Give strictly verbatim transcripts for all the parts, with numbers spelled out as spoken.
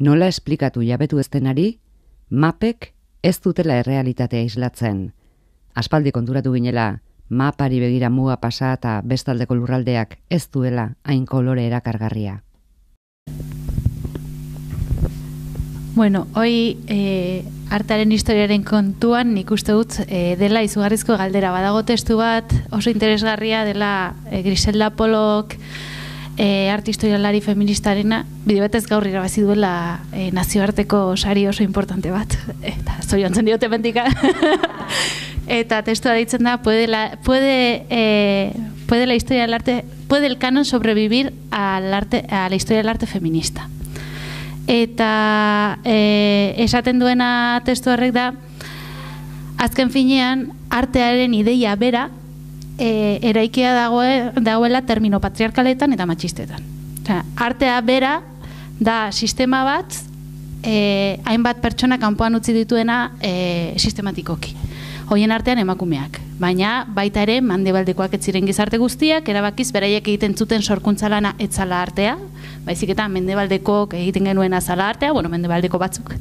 Nola esplikatu jabetu ez denari, mapek ez dutela errealitatea islatzen. Aspaldi konturatu ginela, mapari begira muga pasa eta bestaldeko lurraldeak ez duela hain kolore erakargarria. Bueno, hoi e, artearen historiaren kontuan nik uste dut e, dela izugarrizko galdera. Badago testu bat oso interesgarria dela e, Griselda Pollock e, arte historialari feministarena, bide batez gaur irabazi duela e, nazioarteko sari oso importante bat. Eta zoriontzen diote mentika. Eta testua deitzen da, puede la, puede, eh, puede la historia del arte, puede el canon sobrevivir al arte, a la historia del arte feminista. Eta e, esaten duena testu horrek da, azken finean, artearen ideia bera e, eraikia dagoe, dagoela termino patriarkaletan eta matxistetan. Osea, artea bera da sistema bat, e, hainbat pertsona kanpoan utzi dituena e, sistematikoki. Hoien artean emakumeak, baina baita ere mendebaldekoak ez ziren gizarte guztiak, erabakiz beraiek egiten zuten sorkuntza lana ez zala artea, baizik eta mendebaldekok egiten genuen azala artea, bueno, mendebaldeko batzuk.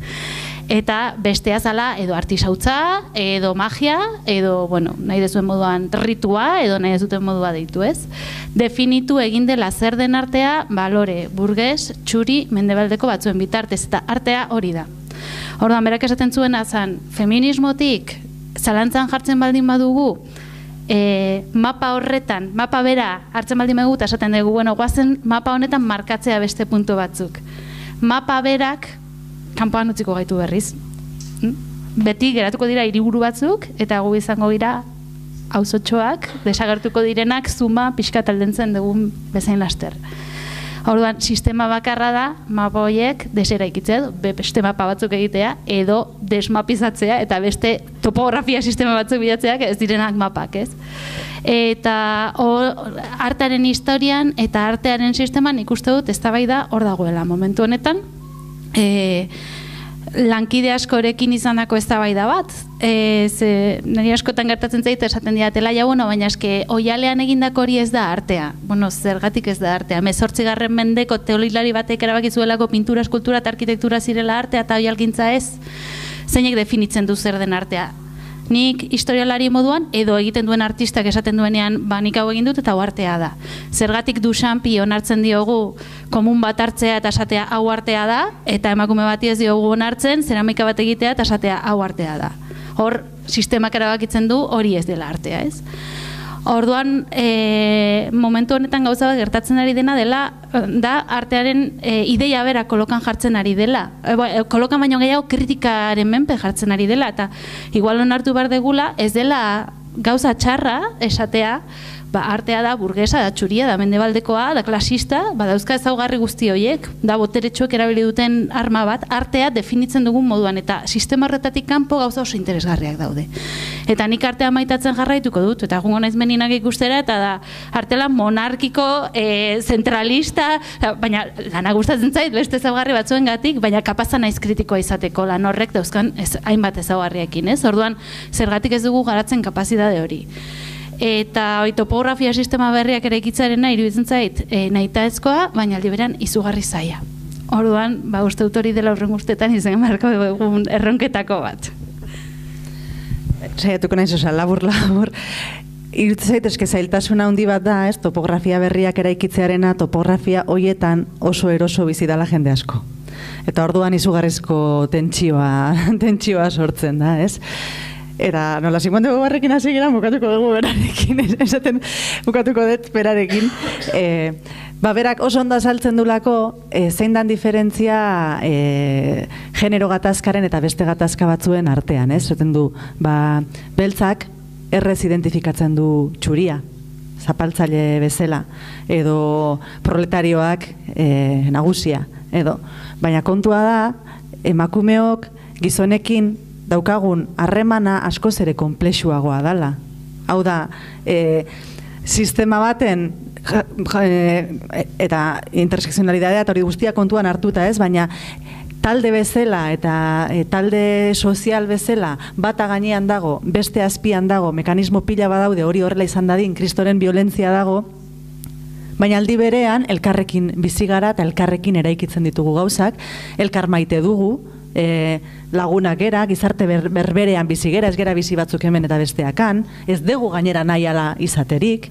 Eta bestea zala edo artisautza, edo magia, edo, bueno, nahi dezuen moduan ritua, edo nahi dezuten modua deitu ez. Definitu egin dela zer den artea, balore, burges, txuri, mendebaldeko batzuen bitartez, eta artea hori da. Orduan, berak esaten zuena zan, feminismotik, zalantzan jartzen baldin badugu, e, mapa horretan, mapa bera hartzen baldin badugu, eta esaten dugu, bueno, guazen mapa honetan markatzea beste puntu batzuk. Mapa berak, kanpoan utziko gaitu berriz. Beti geratuko dira hiriburu batzuk, eta gu izango dira auzotxoak, desagertuko direnak, zuma, pixka taldentzen dugun bezain laster. Orduan, sistema bakarra da, mapa horiek deseraikitzea, beste mapa batzuk egitea, edo desmapizatzea, eta beste topografia sistema batzuk bilatzeak ez direnak mapak, ez? Eta or, artearen historian eta artearen sisteman ikuste dut eztabaida hor dagoela momentu honetan. E, lankide askorekin izandako eztabaida bat, e, ze, niri askotan gertatzen zait esaten diatela, ja, bueno, baina eske oialean egindako hori ez da artea. Bueno, zergatik ez da artea. Hemezortzigarren mendeko teolilari batek erabakizuelako pintura, eskultura eta arkitektura zirela artea eta oialgintza ez, zeinek definitzen du zer den artea. Nik historialari moduan, edo egiten duen artistak esaten duenean, ba, nik hau egin dut eta hau artea da. Zergatik Duchampi onartzen diogu komun bat hartzea eta esatea hau artea da, eta emakume bati ez diogu onartzen zeramika bat egitea eta esatea hau artea da. Hor, sistemak erabakitzen du hori ez dela artea, ez? Orduan, e, momentu honetan gauza bat gertatzen ari dena dela, da artearen e, ideia bera kolokan jartzen ari dela. E, kolokan baino gehiago kritikaren menpe jartzen ari dela, eta igual onartu behar degula, ez dela gauza txarra esatea, ba, artea da burgesa, da txuria, da mendebaldekoa, da klasista, ba, dauzka ezaugarri guzti horiek, da boteretsuek erabili duten arma bat, artea definitzen dugun moduan, eta sistema horretatik kanpo gauza oso interesgarriak daude. Eta nik artea maitatzen jarraituko dut, eta egungo naiz meninak ikustera, eta da artela monarkiko, e, zentralista, baina lana gustatzen zait, beste ezaugarri batzuengatik, baina kapazta naiz kritikoa izateko lan horrek dauzkan ez, hainbat ezaugarriekin, ez? Orduan, zergatik ez dugu garatzen kapazitate hori. Eta oi, topografia sistema berriak ere ikitzarena iruditzen zait e, nahitaezkoa, baina aldi beran izugarri zaila. Orduan, ba, uste dut hori dela horren guztetan izan marko egun erronketako bat. Saiatuko naiz, oza, labur, labur. Iruditzen zait, eske zailtasuna handi bat da, ez, topografia berriak eraikitzearena, topografia hoietan oso eroso bizi dela jende asko. Eta orduan izugarrizko tentsioa, tentsioa sortzen da, ez? Eta nola Simon de Beauvoirrekin hasi gara, bukatuko dugu berarekin, esaten bukatuko dut berarekin. E, ba, berak oso ondo azaltzen dulako, e, zein dan diferentzia e, genero gatazkaren eta beste gatazka batzuen artean, ez? Esaten du, ba, beltzak errez identifikatzen du txuria, zapaltzaile bezala, edo proletarioak e, nagusia, edo. Baina kontua da, emakumeok gizonekin daukagun harremana askoz ere konplexuagoa dala. Hau da, e, sistema baten ja, ja, e, eta intersekzionalidadea eta hori guztia kontuan hartuta ez, baina talde bezala eta e, talde sozial bezala bata gainean dago, beste azpian dago, mekanismo pila badaude hori horrela izan dadin, kristoren violentzia dago, Baina aldi berean, elkarrekin bizi gara eta elkarrekin eraikitzen ditugu gauzak, elkar maite dugu, e, lagunak gera, gizarte ber, berberean bizi gera, ez gera bizi batzuk hemen eta besteakan, ez dugu gainera nahi ala izaterik.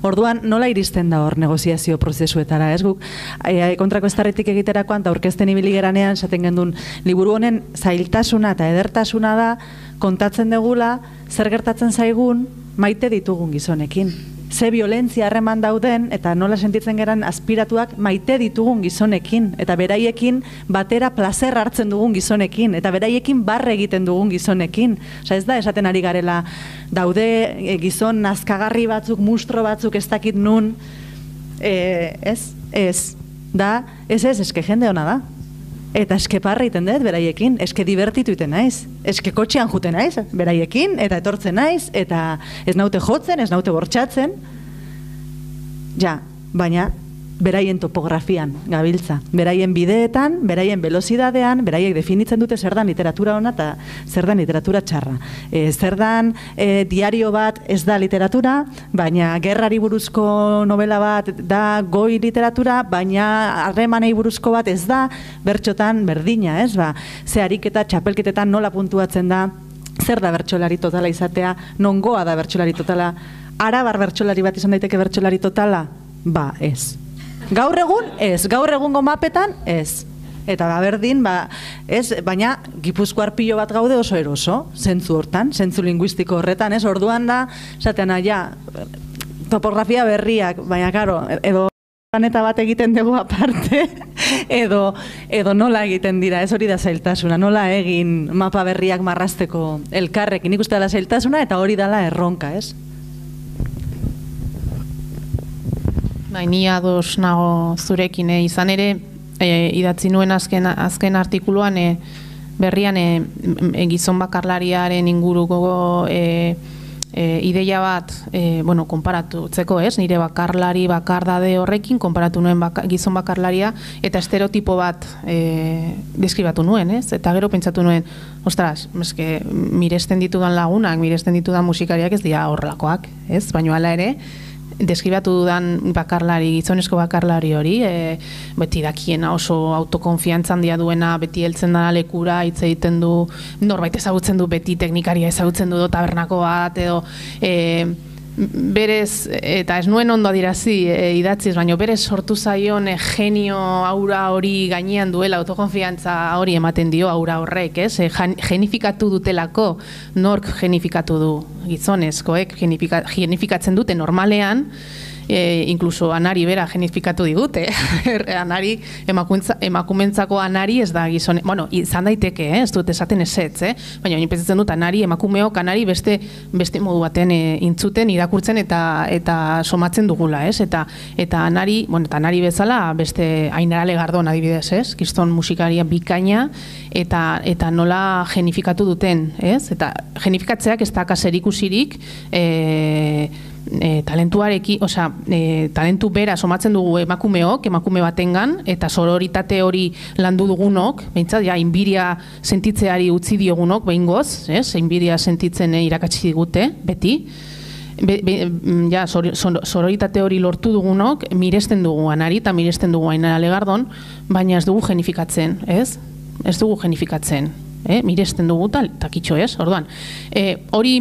Orduan, nola iristen da hor negoziazio prozesuetara, ez guk? E, kontrako estarretik egiterakoan, eta aurkezten ibili geranean, esaten gendun, liburu honen zailtasuna eta edertasuna da, kontatzen degula, zer gertatzen zaigun, maite ditugun gizonekin. Ze violentzia harreman dauden, eta nola sentitzen geran aspiratuak maite ditugun gizonekin, eta beraiekin batera plazer hartzen dugun gizonekin, eta beraiekin barre egiten dugun gizonekin. Osa ez da, esaten ari garela, daude e, gizon nazkagarri batzuk, mustro batzuk, ez dakit nun, e, ez, ez, da, ez ez, eske jende hona da. Eta eske parra iten dut beraiekin, eske divertitu iten naiz, eske kotxean juten naiz beraiekin, eta etortzen naiz, eta ez naute jotzen, ez naute bortxatzen, ja, baina beraien topografian gabiltza, beraien bideetan, beraien velozidadean, beraiek definitzen dute zer dan literatura ona eta zer dan literatura txarra. E, zer dan e, diario bat ez da literatura, baina gerrari buruzko novela bat da goi literatura, baina harremanei buruzko bat ez da, bertxotan berdina, ez ba, ze ariketa txapelketetan nola puntuatzen da, zer da bertsolari totala izatea, nongoa da bertsolari totala, arabar bertsolari bat izan daiteke bertsolari totala, ba, ez. Gaur egun, ez. Gaur egungo mapetan, ez. Eta ba, berdin, ba, ez, baina Gipuzkoar pilo bat gaude oso eroso, zentzu hortan, zentzu linguistiko horretan, ez, orduan da, esaten ja, topografia berriak, baina, karo, edo planeta bat egiten dugu aparte, edo, edo nola egiten dira, ez hori da zailtasuna, nola egin mapa berriak marrasteko elkarrekin, nik uste dela zailtasuna, eta hori dela erronka, ez? Bai, ni ados nago zurekin, eh? Izan ere, eh, idatzi nuen azken, azken artikuluan, eh, berrian eh, gizon bakarlariaren inguruko eh, eh, ideia bat, eh, bueno, konparatutzeko, ez? Nire bakarlari bakardade horrekin, konparatu nuen baka, gizon bakarlaria, eta estereotipo bat eh, deskribatu nuen, ez? Eta gero pentsatu nuen, ostras, eske, miresten ditudan lagunak, miresten ditudan musikariak ez dira horrelakoak, ez? Baina hala ere, deskribatu dudan bakarlari, gizonezko bakarlari hori, e, beti dakiena oso autokonfiantza handia duena, beti heltzen da lekura, hitz egiten du, norbait ezagutzen du, beti teknikaria ezagutzen du, tabernako bat, edo e, berez, eta ez nuen ondo adirazi e, idatziz, baina berez sortu zaion e, genio aura hori gainean duela, autokonfiantza hori ematen dio aura horrek, ez? E, genifikatu dutelako, nork genifikatu du gizonezkoek, genifika, genifikatzen dute normalean, e, inkluso anari bera genifikatu digute, anari, emakumentzako anari ez da gizone, bueno, izan daiteke, eh? Ez dut esaten ezetz, eh? Baina baina pentsatzen dut anari, emakumeok anari beste, beste modu baten e, intzuten, irakurtzen eta eta somatzen dugula, ez? Eta, eta anari, bueno, eta anari bezala beste Ainara Legardon adibidez, ez? Kriston musikaria bikaina, eta, eta nola genifikatu duten, ez? Eta genifikatzeak ez da kaserikusirik, eh, E, talentuareki, osea, e, talentu bera somatzen dugu emakumeok, emakume batengan, eta sororitate hori landu dugunok, behintzat, ja, inbiria sentitzeari utzi diogunok, behingoz, ez? Inbiria sentitzen e, irakatsi digute, beti. Be, be, ja, sor, sor, sororitate hori lortu dugunok, miresten dugu anari, eta miresten dugu Ainara Legardon, baina ez dugu genifikatzen, ez? Ez dugu genifikatzen, eh? Miresten dugu tal, takitxo, ez? Orduan, e, hori,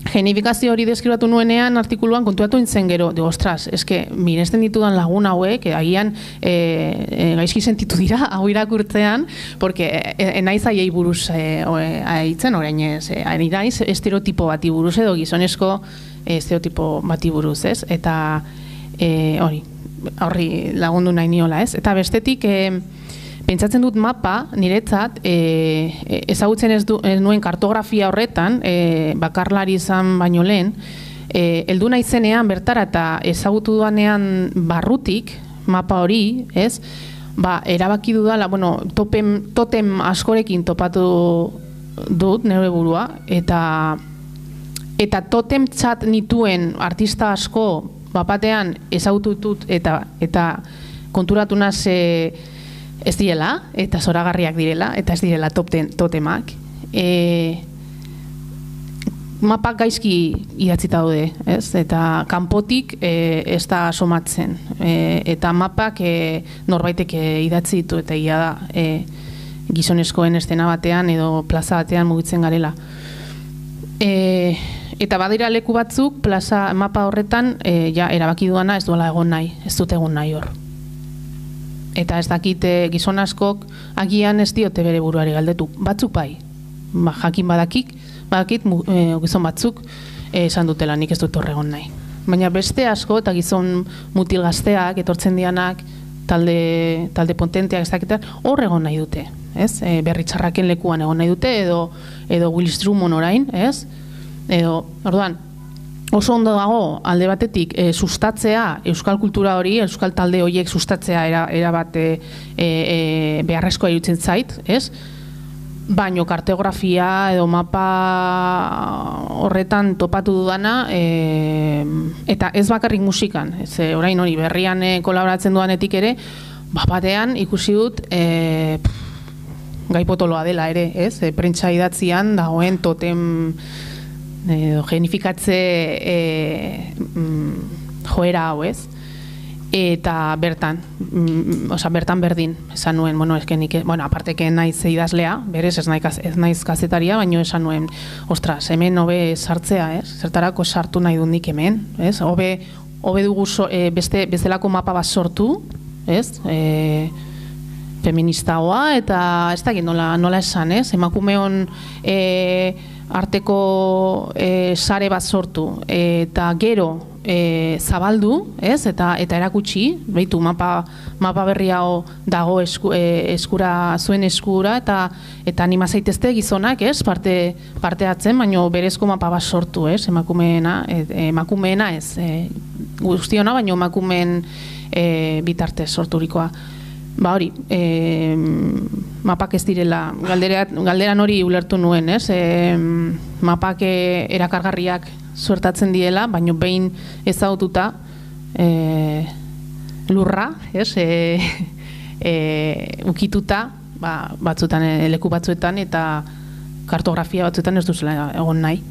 genifikazio hori deskribatu nuenean artikuluan kontuatu nintzen gero, de ostras, eske miresten ditudan lagun hauek, agian e, e, gaizki sentitu dira hau irakurtzean, porque e, naiz aiei buruz e, aitzen orain ez, e, naiz estereotipo bati buruz edo gizonezko e, estereotipo bati buruz, ez? Eta e, hori, horri lagundu nahi niola, ez? Eta bestetik, e, pentsatzen dut mapa, niretzat, e, ezagutzen ez, du, ez nuen kartografia horretan, e, bakarlari izan baino lehen, e, heldu naizenean bertara eta ezagutu duanean barrutik, mapa hori, ez, ba, erabaki dudala, bueno, topem, totem askorekin topatu dut, nire burua, eta, eta totem txat nituen artista asko, bapatean ezagutu dut, eta, eta konturatu naz, e, ez direla, eta zoragarriak direla, eta ez direla totemak. E, mapak gaizki idatzita daude, ez? Eta kanpotik e, ez da somatzen. E, eta mapak e, norbaitek e, idatzi ditu eta ia da e, gizonezkoen estena batean edo plaza batean mugitzen garela. E, eta badira leku batzuk plaza mapa horretan e, ja erabaki duana ez duela egon nahi, ez dut egon nahi hor. Eta ez dakite gizon askok agian ez diote bere buruari galdetu. Batzuk bai, ba, jakin badakik, badakit e, gizon batzuk e, esan dutela nik ez dut horregon nahi. Baina beste asko eta gizon mutil gazteak, etortzen dianak, talde, talde potenteak ez dakitar, horregon nahi dute. Ez? E, berri txarraken lekuan egon nahi dute, edo, edo Willis Drummond orain, ez? Edo, orduan, oso ondo dago alde batetik e, sustatzea euskal kultura hori, euskal talde horiek sustatzea era, era bat e, e, beharrezkoa irutzen zait, ez? Baino kartografia edo mapa horretan topatu dudana e, eta ez bakarrik musikan, ez, e, orain hori berrian e, kolaboratzen dudanetik ere, ba, batean ikusi dut e, gai potoloa dela ere, ez? E, prentsa idatzian dagoen totem edo genifikatze e, mm, joera hau, ez? Eta bertan, mm, oza, bertan berdin, esan nuen, bueno, eskenik, bueno, aparteke naiz idazlea, berez ez naiz, ez naiz kazetaria, baino esan nuen, ostras, hemen hobe sartzea, ez? Zertarako sartu nahi dut nik hemen, ez? Hobe, hobe dugu so, e, beste, bestelako mapa bat sortu, ez? E, feministagoa, eta ez dakit nola, nola esan, ez? Emakumeon e, arteko e, sare bat sortu, eta gero e, zabaldu, ez? Eta, eta erakutsi, behitu, mapa, mapa berri hau dago esku, e, eskura, zuen eskura, eta, eta anima zaitezte gizonak, ez? Parte, parte hartzen, baino berezko mapa bat sortu, ez? Emakumeena, e, emakumeena ez, e, guztiona, baino emakumeen e, bitartez sorturikoa. Ba hori, e, mapak ez direla, galderat, galderan hori ulertu nuen, ez? E, mapak erakargarriak suertatzen diela, baino behin ezagututa e, lurra, ez? E, e, ukituta, ba, batzutan, leku batzuetan eta kartografia batzuetan ez duzela egon nahi.